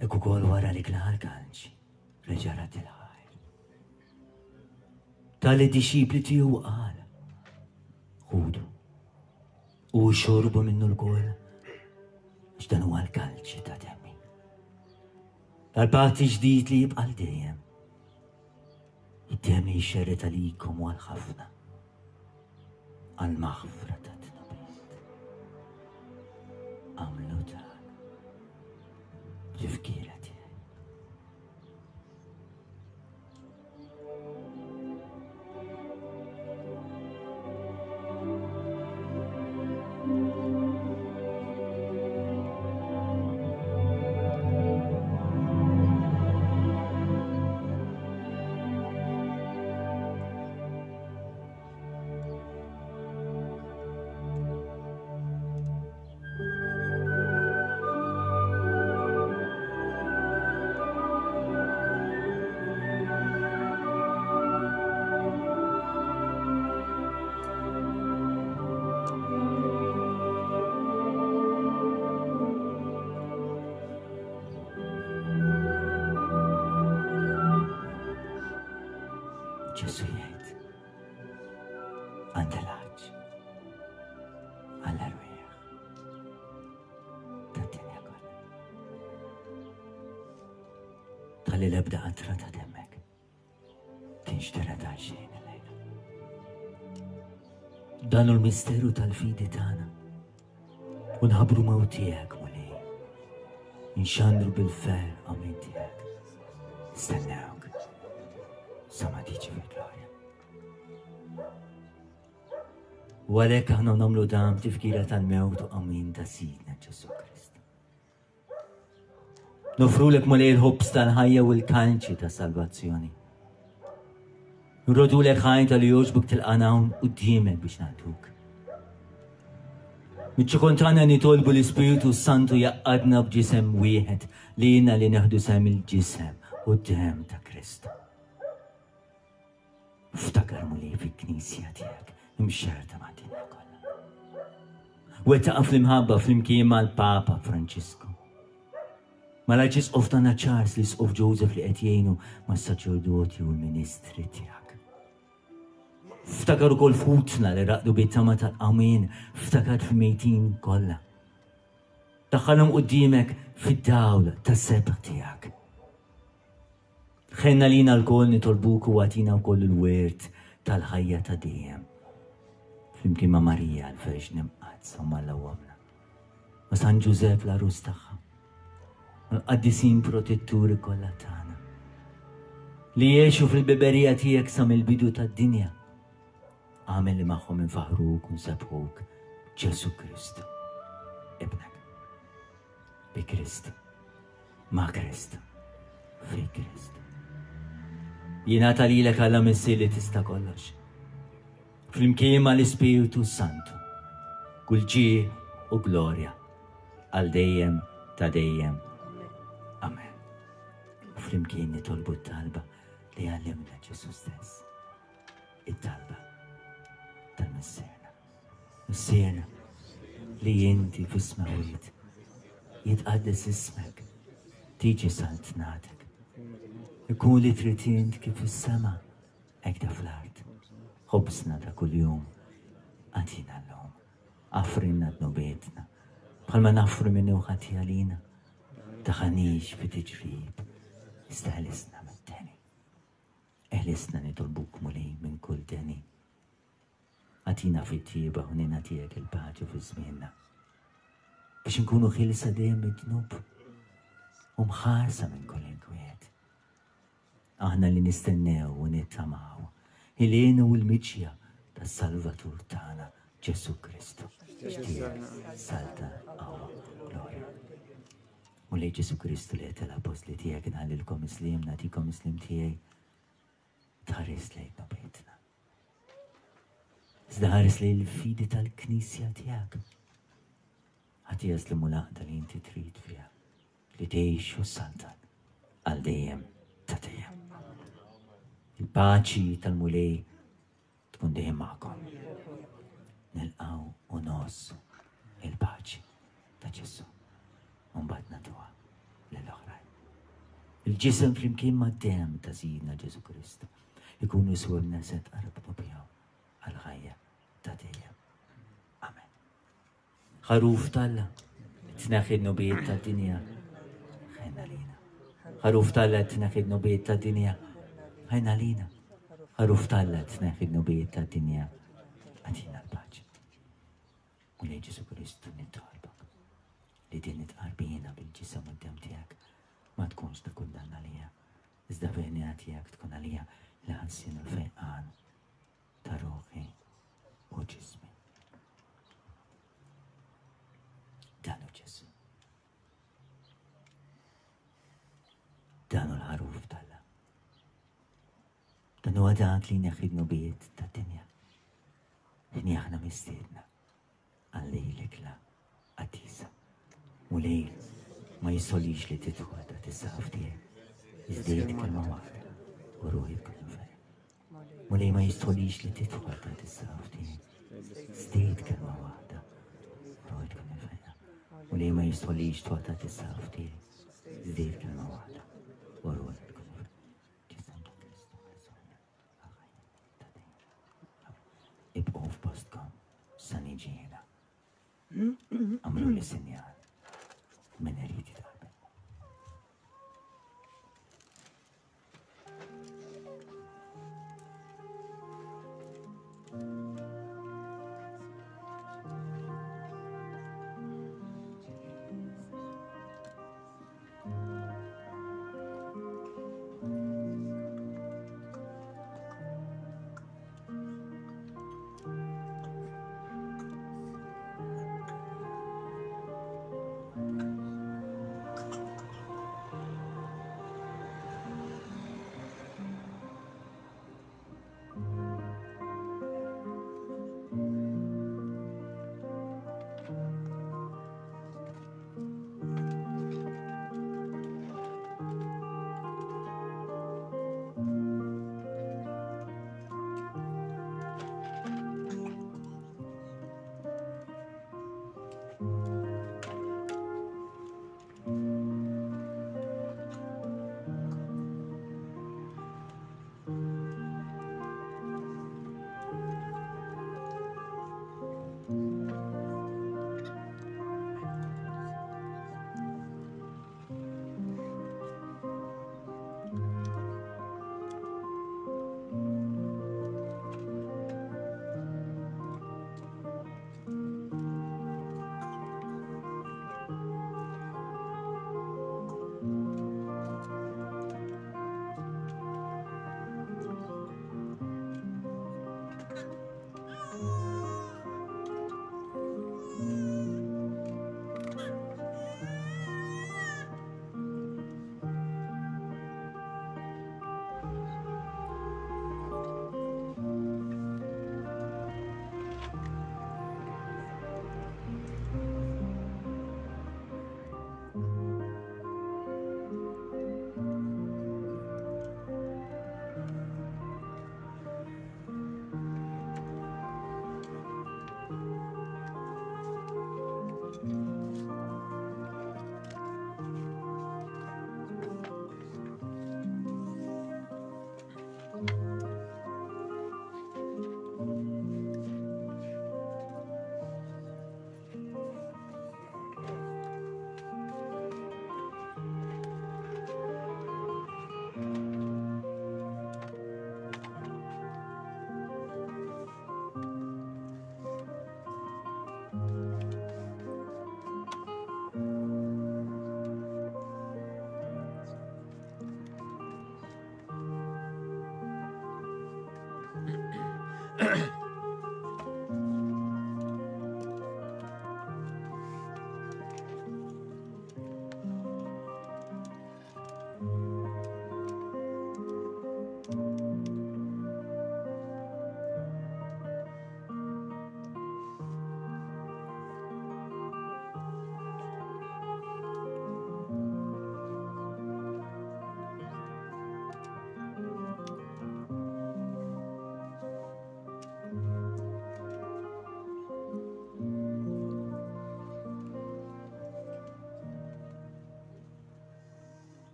Hekk ukoll wara li klaħ l-kalċ, reġa' rad il-ħajr. Ta lid-dixxipli tiegħu u qal, Ħudu u xorbu minnu lkoll, għax dan huwa l-kalċi ta' demmi. Tal-patt ġdid li jibqa' għal dejjem. Id-demm li jxerred għalikom u għal ħafna. Għal maħfra ta' dnubiet. Għamlu dan. Tifkira tiegħi. Ġesu jgħid, għandha l-għaġ, għall-erwieħ tad-dinja kollha. Tħalli l-ebda qatra ta' demmek tinxtered għal xejn illejla. Dan hu l-misteru tal-fidi tagħna. U nħabbru mewt tiegħek, Mulej. Inxandru bil-ferħ qawmien tiegħek. Nistennewk sa ma tiġi fil-glorja. U għalhekk aħna nagħmlu dan b'tifkira tal-mewt u qawmien ta' Sidna Ġesù Kristu. Nofrulek Mulej il-ħobż tal-ħajja u l-kalċi ta' salvazzjoni. Nrodulek ħajn tal jogħġbok tilqana hawn quddiemek biex nagħtuk. Miċ-ċokon tagħna nitolbu l-Ispirtu Santu jaqqadna b'ġisem wieħed li jiena li neħdu sehem il-ġisem u d-demm ta' Kristu. Ftakar Mulej fil-Knisja tiegħek imxerrda mad-dinja kollha. Wettaqa fl-imħabba flimkien mal-Papa Franġisku. Mal-Arċisqof tagħna Charles, l-Isqof Joseph li qed jgħinu mas-saċerdoti u l-ministri tiegħek. Ftakar ukoll f'ħutna li raqdu bit-tama tal-qawmien, ftakar fil-mejtin kollha. Daħħalhom quddiemek fid-dawl tas-sebħ tiegħek. Ħenn għalina lkoll nitolbuk u agħtina wkoll il-wirt tal-ħajja ta' dejjem. Flimkien ma' Marija l-Verġni Mqaddsa u mal Ommna, ma' San Ġużepp l-għarus tagħha, mal-qaddisin protetturi kollha tagħna, li għexu fil-beberija tiegħek sa mill-bidu tad-dinja. Agħmel li magħhom infaħruk u nsebbħuk Ġesù Kristu, Ibnek. Bi Kristu. Ma' Kristu. Fi Kristu. Jingħata lilek Alla Missier li tista' kollox. Flimkien ma' l-Ispirtu Santu. Kull ġieħ u glorja għal dejjem ta' dejjem. Amen. U flimkien nitolbu t-talba li għallimna Ġesu stess. It-talba tal-Missierna. Missierna li inti fis-smawiet, jitqaddes ismek, tiġi saltnatek. Ikun li trid int kif fis-sema, hekk ta' fl-art. Ħobżna ta' kuljum agħtina llum. Aghfrilna dnubietna, bħalma naghfru min hu ħati għalina. Daħħalniex fi tiġrib, iżda ħelisna mid-deni. Eħlisna nitolbuk Mulej minn kull deni. Agħtina fit-tjieba u ħniena tiegħek il-paċi fi żmienna. Biex inkunu ħielsa dejjem mid-dnub u mħarsa minn kull inkwiet. Aħna li nistennew u nittamaw il-għena u l-miġja tas-Salvatur tagħna Ġesù Kristu. Tiegħek salta qawwa glorja. Mulej Ġesù Kristu li qed l-appostli tiegħek inħallilkom is-sliem, nagħtikom is-sliem tiegħi. Tħares lejn dnubietna. Iżda ħares lejn il-fidi tal-Knisja tiegħek. Ħadd jaslimu l-għaqda li inti trid fiha li tgħix u ssaltan għal dejjem ta' dejjem. Il-paċi tal-Mulej tkun dejjem magħkom. Nilqgħu u ngħożżu il-paċi ta' Ġesù. U mbagħad nagħtuha lill-oħrajn. Il-ġisem flimkien mad-demm ta' Sidna Ġesù Kristu. Ikunu jiswewlna se tqarbnu bihom għall-ħajja ta' dejjem. Amen. Ħaruf t'Alla, tneħħi d-dnubiet tad-dinja, ħenn għalina. Ħaruf t'Alla, tneħħi d-dnubiet tad-dinja, ħenn għalina. Ħaruf t'Alla, tneħħi d-dnubiet tad-dinja, agħtina l-paċi. Mulej Ġesù Kristu nitolbok li din it-tqarbina bil-ġisem u d-demm tiegħek ma tkunx ta' kundanna għalija, iżda fil-ħniena tiegħek tkun għalija l-ħelsien u l-fejqan ta' ruħi u ġismi. Dan hu Ġesù. Dan hu l-ħaruf t'Alla. Dan huwa dak li jneħħi dnubiet tad-dinja. Ħni aħna mistiedna għal l-ikla qaddisa. Mulej, ma jistolix li tidħol ta' tissaqaf tiegħi. Iżdejt kelma waħda u ruħi tkun ferħ. Mulej ma jistolix li tidħol ta' tissaqaf tiegħi. Iżdejt kelma waħda u ruħi tkun ferħ. Mulej ma jistolix tidħol ta' tissaqaf tiegħi. Iżdejt kelma waħda u ruħi tkun ferħ. Ġisem ta' Kristu ħelsuna għal-ħajja ta' dejjem. Ibqgħu f'postkom sa niġi jiena. Għamluli sinjal min irid jitqabel.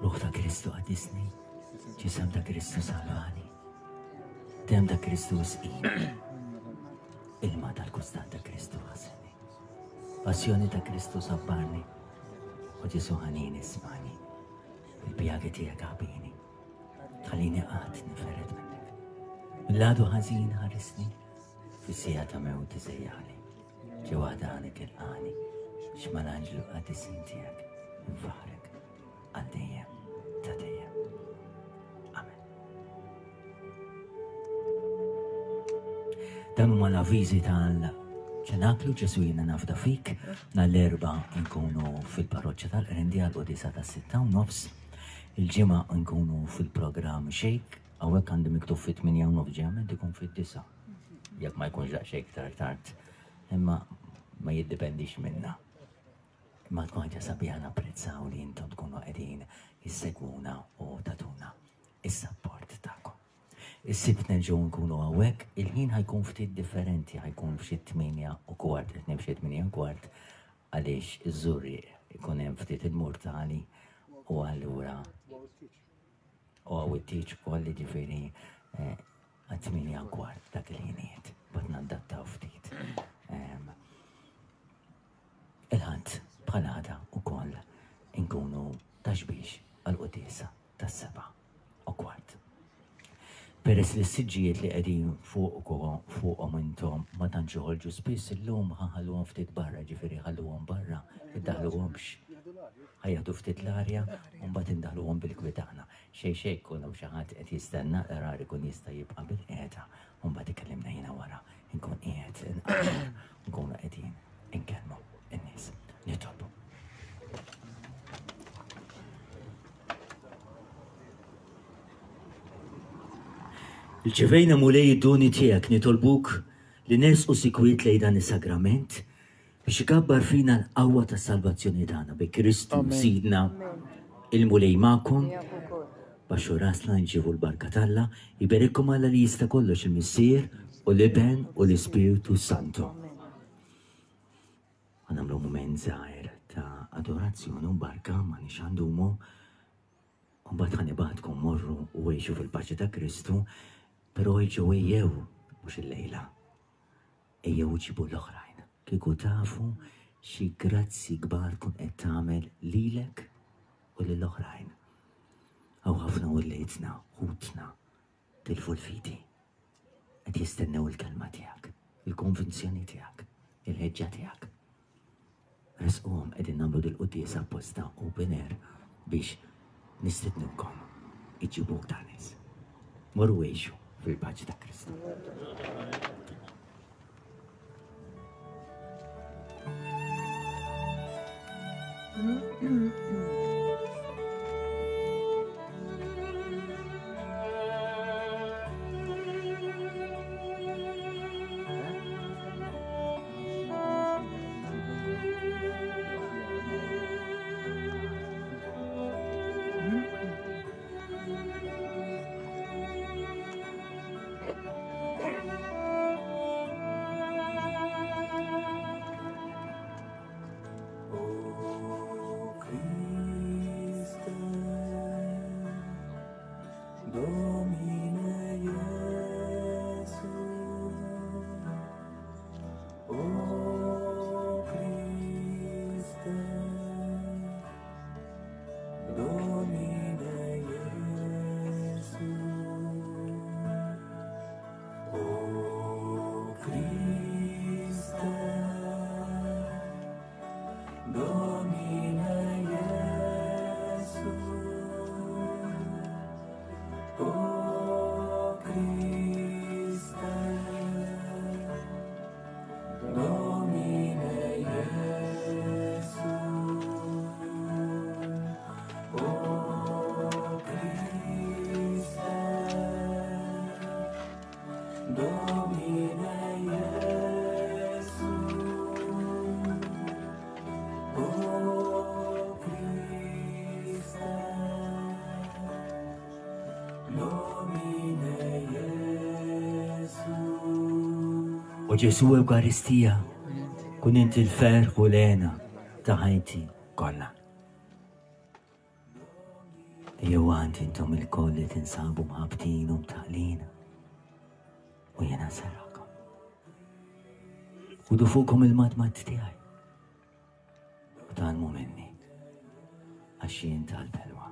Ruħ ta' Kristu qaddisni, ġisem ta' Kristu salvani, dem ta' Kristu sqini, ilma tal-kustat ta' Kristu ħasilni, passjoni ta' Kristu sabbarni, u Ġesu ħanin ismani, il-pjagi tiegħek għabini, tħallini qatt niferet minnek. Mill-għadu ħażin ħarisni, fis-sija ta' mewti sejjaħli, ġewwa ħdanek ilqani, biex mal-anġlu qadisin tiegħek nfaħrek għal dejjem ta' dejjem. Amen. Dan huma l-avviżi tal-ċenaklu Ġesu jiena nafda fik nhar l-erba' nkunu fil-parroċċa tal-Qrendi għal qudisa tas-sitta u nofs. Il-ġimgħa nkunu fil-programm Shake, hawnhekk għandi miktub fit-8 u nofs ġeament ikun fid-disa. Jekk ma jkunx daqsxejn iktar tard, imma ma jiddependix minna. Imma tkun ħaġa sabiħa napprezzaw li intom tkunu qegħdin issegwuna u tagħtuna is-sapport tagħkom. Is-Sibt nerġgħu nkunu hawnhekk, il-ħin ħajkun ftit differenti, ħajkun f'xi 8 u kwart, qed f'xi 8 u kwart għaliex iż-Żurrieq ikun hemm ftit il-murtali u allura u għaw it-tieġ ukoll jiġifieri eh, għat-8 u kwart dak il-ħinijiet, bat nadattaw ftit. Ehm, Il-Ħadd bħal għada wkoll inkunu Ta' Xbiex għall-quddiesa tas-7:15. Peress li s-siġġijiet li qegħdin fuqhom intom ma tantx joħorġu spiss illum ħa nħalluhom ftit barra, ġifieri ħalluhom barra, iddaħħluhomx. Ħa jieħdu ftit l-arja u mbagħad indaħħluhom bil-kwiet aħna. Xejn xejn jkun hawn xi ħadd qed jistenna l-qrar ikun jista' jibqa' bilqiegħda u mbagħad ikellimna jiena wara nkun qiegħed inqarr nkunu qegħdin inkellmu n-nies. Nitolbu. Irċevejna Mulej id-doni tiegħek nitolbuk li nersqu sikwit lejn dan is-sagrament biex ikabbar fina l-qawwa tas-salvazzjoni tagħna bi Kristu Sidna il-Mulej magħkom. Baxxu rasna nġibu l-barka t'Alla, iberikkom Alla li jista' kollox il-Missier u l-Iben u l-Ispirtu Santo. Għanamlu mument żgħir ta' adorazzjoni u barka ma nix għandumu. U mbagħad ħa nibgħatkom morru u għixu fil-paċi ta' Kristu, però ejġew ejjew mhux illejla. Ejjew ġibu l-oħrajn. Kieku tafu xi grazzi kbar tkun qed tagħmel lilek u lill-oħrajn. Hawn ħafna wliedna, ħutna, tilfu l-fidi. Qed jistennew il-kelma tiegħek, il-konvinzjoni tiegħek, il-ħeġġa tiegħek. Resquhom qegħdin nagħmlu dil-quddiesa apposta open air biex nistednukom iġibu aktar nies. Morru għixu fil-paċi ta' Kristu. O Ġesu Ewkaristija, kun inti l-ferħ u l-hena ta' ħajti kollha. Ejjew għand intom ilkoll li tinsabu mħabbtin u mtaqlin, u jiena nserraħkom. Ħudu fuqkom il-madmad tiegħi u tgħallmu minni, għax jien tal-belwa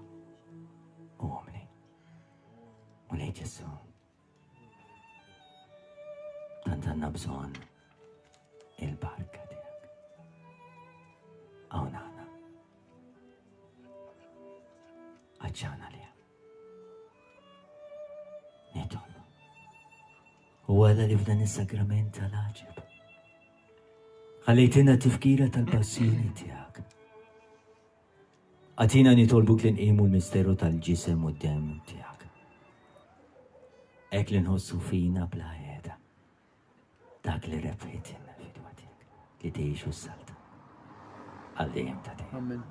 u umli. Mulej Ġesù, tant għandna bżonn il-barka tiegħek. Hawn aħna. Għadċana li Nitolbu. U għala li f'dan is-sagrament tal-għaġeb. Ħallejtina tifkira tal-passjoni tiegħek. Agħtina nitolbuk li nqimu l-misteru tal-ġisem u d-demm tiegħek. Hekk li nħossu fina bla qiegħda dak li rebħitilna l-fidwa tiegħek li tgħix u ssalta għal dejjem ta' dejjem. Amen.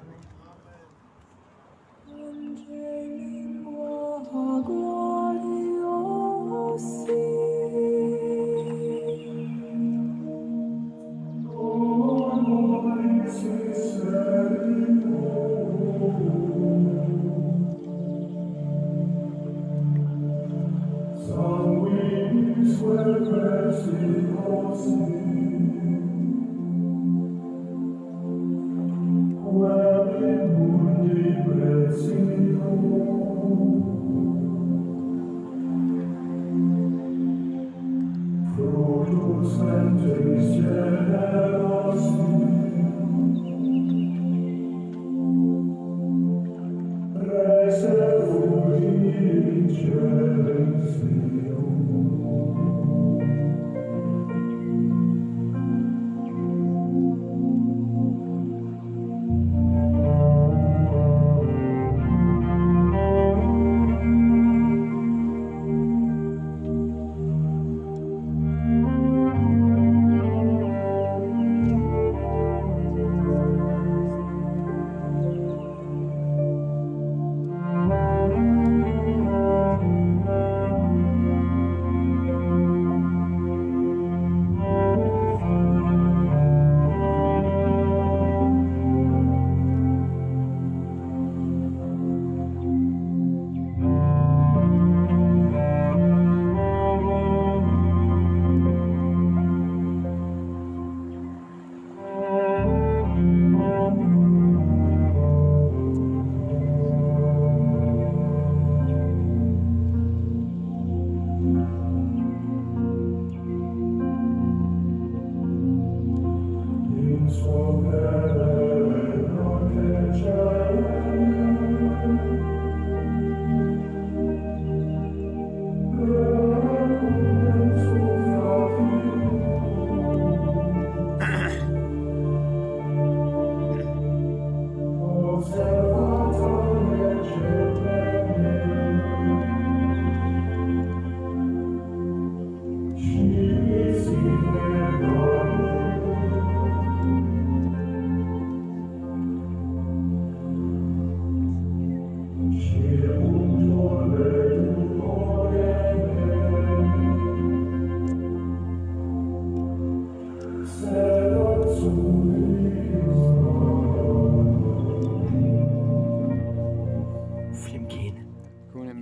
Flimkien,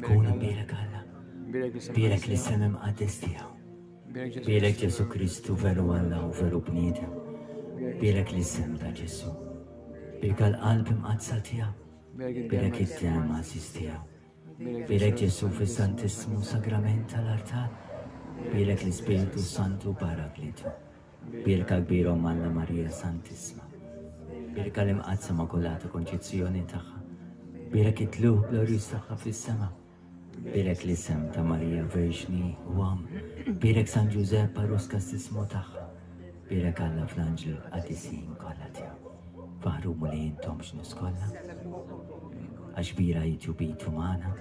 kun imbierek Alla, bierek l-isem imqaddes tiegħu. Bierek Ġesu Kristu veru Alla u veru bniedem. Bierek l-isem ta' Ġesu. Bierek għal-qalb imqaddsa tiegħu. Bierek id-dem għażiż tiegħu. Bierek Ġesu fis-Santissmu Sagrament tal-artal. Bierek l-Ispirtu Santu Paraklitu. Bierka kbir Omm Alla Marija Santissma. Bierka l-Imqaddsa Immakulata Konċizzjoni tagħha. Bierek it-tlugħ glorjuż tagħha fis-sema. Bierek l-isem ta' Marija Verġni u Omm. Bierek San Ġużepp għarus kastissmu tagħha. Bierek Alla fl-anġli l-qaddisin kollha tiegħu. Faħru Mulej intom ġnus kollha. Għax kbira hi tjubitu magħna.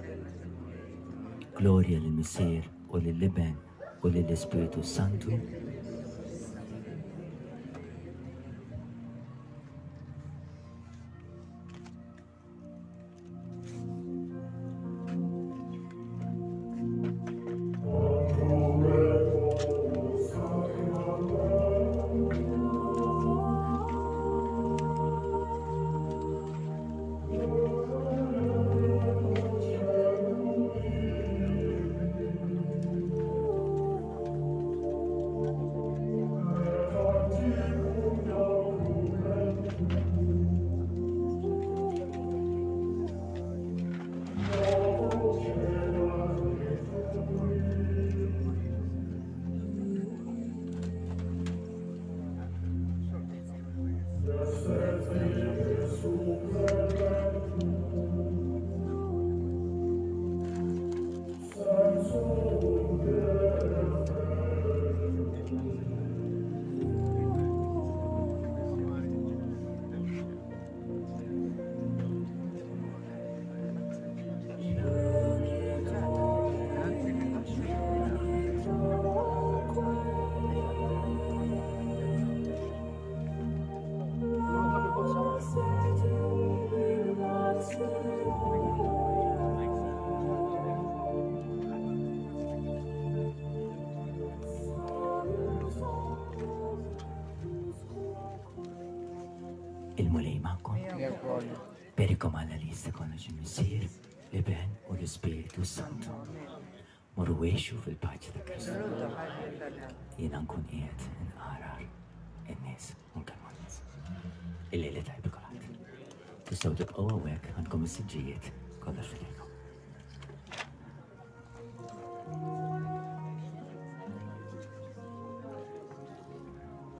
Glorja lill-Missier u lill-Iben u lill-Ispirtu Santu. Il-Mulej magħkom. Berikom Alla li jista' kollox il-Missier, l-Iben u l-Ispirtu Santu. Morru għixu fil-paċi ta' Kristu. Jiena nkun qiegħed inqarar in-nies u nkellmu n-nies. Il-lejla tajba kulħadd. Tistgħu tibqgħu hawnhekk għandkom is-siġġijiet kollox fidejkom.